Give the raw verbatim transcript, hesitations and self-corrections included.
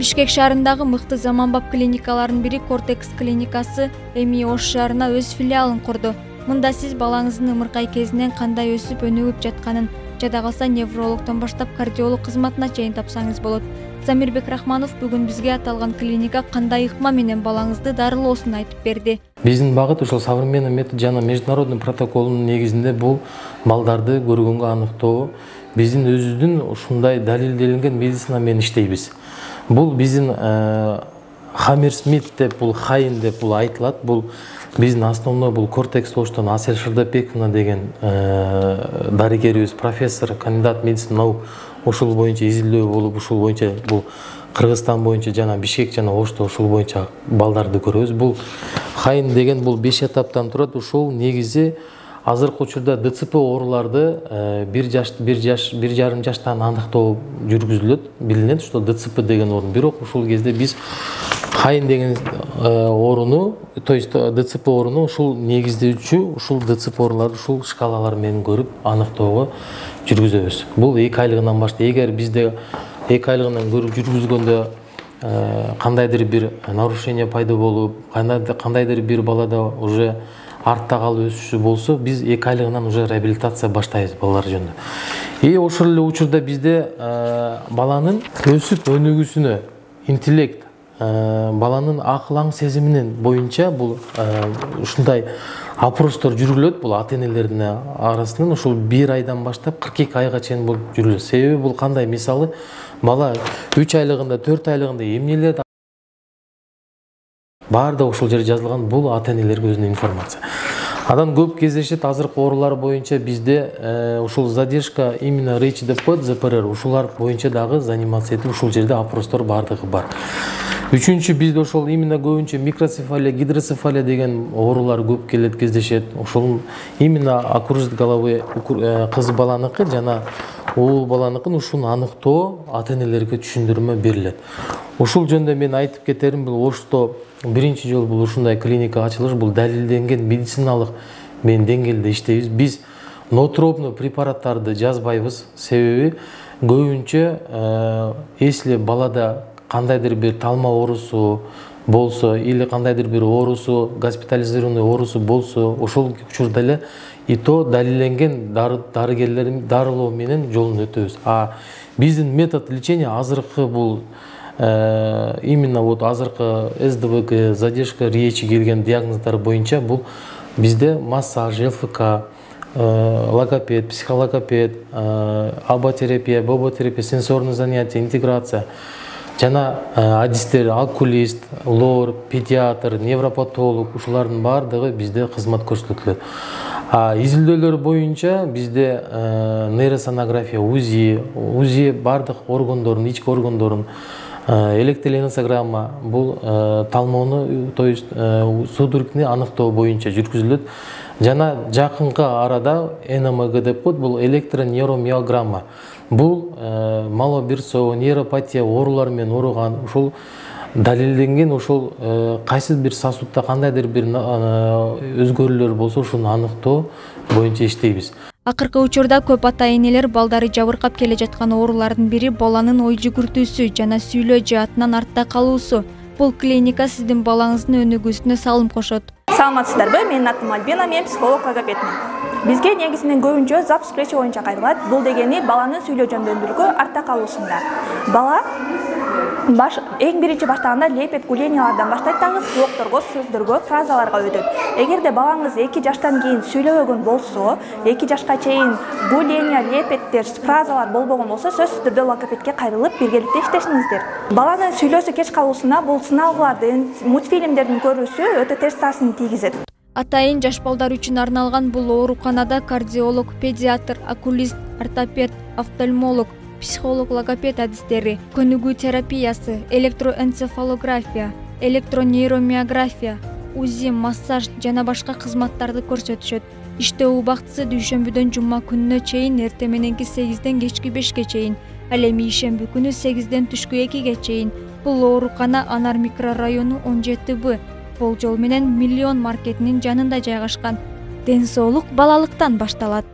Бишкек шаарындагы мыкты заманбап клиникалардын бири Кортекс клиникасы эми Ош шаарына өз филиалын курду. Мында сиз балаңыздын ымыркай кезинен кандай өсүп өнүгүп жатканын, жада калса неврологдон баштап кардиолог кызматына чейин тапсаңыз болот. Замирбек Рахманов бүгүн бизге аталган клиника кандай ыкма менен балаңызды дарылоосун айтып берди. Биздин багыт ошол современный метод жана международный протоколдун негизинде бул балдарды көргөнгө аныктоо. Биздин өзүбүздүн ушундай далилделенген медицина менен иштейбиз. Бул биздин Хаммерсмит деп, бул Хайн деп бул айтылат. Бул биздин основной бул Кортекс Оштон Асель Шырдапековна деген дарыгерибиз, профессор, кандидат медицина наук ушул боюнча изилдөө болуп, ушул боюнча бул Кыргызстан боюнча жана Бишкек жана Ошто ушул боюнча балдарды көрөбүз. Бул Хайн деген бул беш этаптан турат. Ушул негизи азыркы учурда ДЦП ооруларды бир жаш, бир жаш, бир жарым жаштан аныктоо жүргүзүлөт. Билинет, что ДЦП деген оору. Бирок ушул кезде биз Хайн деген ооруну, то есть ДЦП ооруну ушул негиздөөчү, ушул ДЦП ооруларды ушул шкалалар менен көрүп аныктоого жүргүзөбүз. Бул эки айлыгынан баштап, эгер бизде эки айлыгынан көрүп жүргүзгөндө кандайдыр бир нарушение пайда болуп, кандайдыр бир балада уже артта калып өсүшү болсо, биз эки айлыгынан уже реабилитация баштайбыз балалар жөнүндө. И ошол эле учурда бизде баланын өсүп өнүгүүсүнө, интеллект, баланын акыл аң сезиминин боюнча бул ушундай опростор жүргүлөт. Бул ата энелердин арасынан ушул бир айдан баштап кырк эки айга чейин бул жүргүлөт. Себеби бул кандай? Мисалы, бала үч айлыгында, төрт айлыгында эмнелер баардыгы ушул жерде жазылган. Бул ата энелерге өзүнүн информация. Адан көп кездешет азыркы оорулар боюнча бизде ушул задержка именно РЭЧ деп коет, ЗПР, ушулар боюнча дагы заниматься этип, ушул жерде опростор баардыгы бар. Үчүнчү, бизде ошол именно көбүнчө микроцефалия, гидроцефалия деген оорулар көп келет, кездешет. Ошол именно окружность головы кыз баланыкы жана уул баланыкын ушуну аныктоо ата энелерге түшүндүрмө берилет. Ушул жөнүндө мен айтып кетерим, бул Ошто биринчи жолу бул ушундай клиника ачылыш, бул далилденген медициналык мен деңгээлде иштейбиз. Биз ноотропный препараттарды жазбайбыз. Себеби көбүнчө если балада кандайдыр бир талма оорусу болсо или кандайдыр бир оорусу, госпитализированный оорусу болсо, ошол учурда эле и то далилденген дарыгерлердин дарылоо менен жолун өтөбүз. А биздин метод лечения азыркы бул именно вот азыркы СДВГ, задержка речи келген диагноздар боюнча бул бизде массаж, ЛФК, логопед, психологопед, аботерапия, боботерапия, сенсорный занятие, интеграция жана адистер, окулист, лор, педиатр, невропатолог ушулардын баардыгы бизде кызмат көрсөтүлөт. А изилдөөлөр боюнча бизде нейросонография, УЗИ, УЗИ баардык органдордун, ички органдордун, электроэнцефалограмма, бул талмоону, то есть судорогни аныктоо боюнча жүргүзүлөт. Жана жакынкы арада Н М Г деп коет, бул электронейромиограмма. Бул малоберцоо, нейропатия оорулар менен ооруган, ушул далилденген, ушул кайсы бир сосудда кандайдыр бир өзгөрүүлөр болсо, ушуну аныктоо боюнча иштейбиз. Акыркы учурда көп ата энелер балдары жабыркап келе жаткан оорулардын бири баланын ой жүгүртүүсү жана сүйлөө жаатынан артта калуусу. Бул клиника сиздин балаңыздын өнүгүүсүнө салым кошот. Саламатсыздарбы? Менин атым Альбина, мен психолог логопедмин. Бизге негизинен көбүнчө запуск речи боюнча кайрылат. Бул дегени баланын сүйлөө жөндөмдүүлүгү артта калуусунда. Бала баш эң биринчи баштаганда лепет, гулениялардан баштайт дагы слогторго, сөздөргө, фразаларга өтөт. Эгерде балаңыз эки жаштан кийин сүйлөбөгөн болсо, эки жашка чейин гуления, лепеттер, фразалар болбогон болсо, сөзсүз түрдө логопедке кайрылып биргеликте иштешиңиздер. Баланын сүйлөөсү кеч калуусуна бул сыналгылардын, мультфильмдердин көрүүсү өтө терс таасирин тийгизет. Атайын жаш балдар үчүн арналган бул ооруканада кардиолог, педиатр, окулист, ортопед, офтальмолог, психолог, логопед адистери, көнүгүү терапиясы, электроэнцефалография, электронейромиография, УЗИ, массаж жана башка кызматтарды көрсөтүшөт. Иштөө убактысы дүйшөмбүдөн жума күнүнө чейин эртең мененки сегизден кечки бешке чейин, ал эми ишемби күнү сегизден түшкү экиге чейин. Бул оорукана Анар микрорайону он жети Б болжол менен Миллион маркетинин жанында жайгашкан. Ден соолук балалыктан башталат.